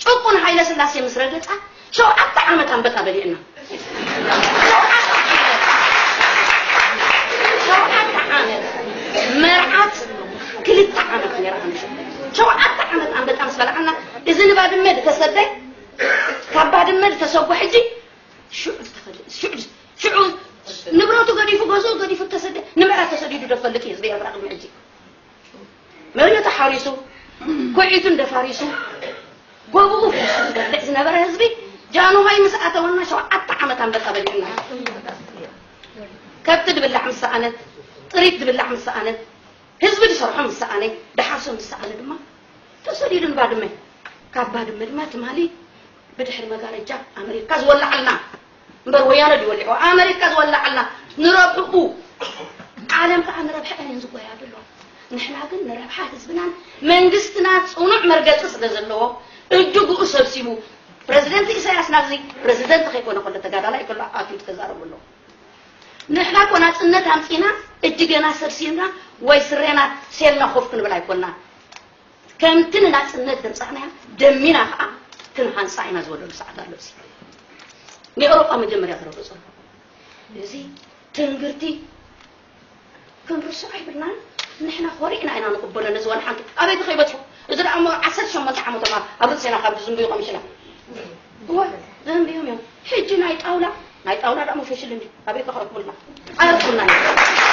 ጭቁን ሃይለ ስላሴ ምስ ረገጻ ሸውዓተ ዓመት ኣንበጣ በሊዕና። ሸውዓተ ዓመት። ሸውዓተ ዓመት። መርዓት ክልተ ዓመት ነይራ። ሸውዓተ ዓመት ኣንበጣ ምስ በላዓና፣ እዚ ንባድመ ዝተሰደ፣ ካብ ባድመ ዝተሰጎ ሕጂ ሽዑ ዝተኸደ፣ ሽዑ፣ ሽዑ ንብረቱ ገዲፉ፣ ገዝኡ ገዲፉ ተሰደ። ንምዕራብ ተሰዲዱ ዶ ፈልጥ እዩ ህዝቢ ኤርትራ ቅድሚ ሕጂ? መሬቱ ሓሪሱ፣ ኩዒቱ እንደፋሪሱ፣ ጎብኡ ሒሱ ዝበልዕ ዝነበረ ህዝቢ፣ ጃንሆይ ምስ ኣተወና ሸውዓተ ዓመት ኣንበጣ በሊዕና። ከብቲ ድብላዕ ምስ ሰኣነት፣ ጥሪት ድብላዕ ምስ ሰኣነት፣ ህዝቢ ድሰርሖ ምስ ሰኣነ፣ ድሓርሶ ምስ ሰኣነ ድማ ተሰዲዱ ንባድመ። ካብ ባድመ ድማ ትማሊ ብድሕሪ መጋረጃ ኣመሪካ ዝወላዓልና እምበር፣ ወያነ ድዩ ወሊዑ? ኣመሪካ ዝወላዓልና ንረብሕኡ። ዓለም ከዓ ንረብሐ እየን ዝጎያ ዘሎ። ንሕና ግን ንረብሓ ህዝብናን መንግስትና ጽኑዕ መርገጺ ስለ ዘለዎ፣ እጅግኡ ሰብሲቡ፣ ፕረዚደንት ኢሳያስ ናብዚ ፕረዚደንት ከይኮነ ከሎ፣ ተጋዳላይ ከሎ ኣትዩ ተዛረቡ ኣሎ። ንሕና እኮ ናጽነት ኣምጺና፣ እጅገና ሰብሲብና ወይ ስረና ሴልና ኮፍ ክንብል ኣይኮንና። ከምቲ ንናጽነት ዘምጻእናያ ደሚና ከዓ ክንሃንጻ ኢና ዝበለሉ ሰዓት ኣሎ። እዚ ንኤውሮጳ መጀመርያ ዝረገጹ። እዚ ትንግርቲ ክንርስዖ ኣይብልናን። ንሕና ኮሪዕና ኢና ንቕበሎ ነዚ ዋላ ሓንቲ። ኣበይ ከይበጽሑ? እዚ ደኣ እሞ ዓሰርተ ሸሞንተ ዓመቶም ኣብ ርእስና ካብ ዝዝንብዩ ቀሚሽና። እወ፣ ዘንብዮም እዮም። ሕጂ ናይ ጣውላ፣ ናይ ጣውላ ደኣ እሞ ፈሽል እንዲ። ኣበይ ከ ክረክቡልና? ኣይረክቡልናን እዮም።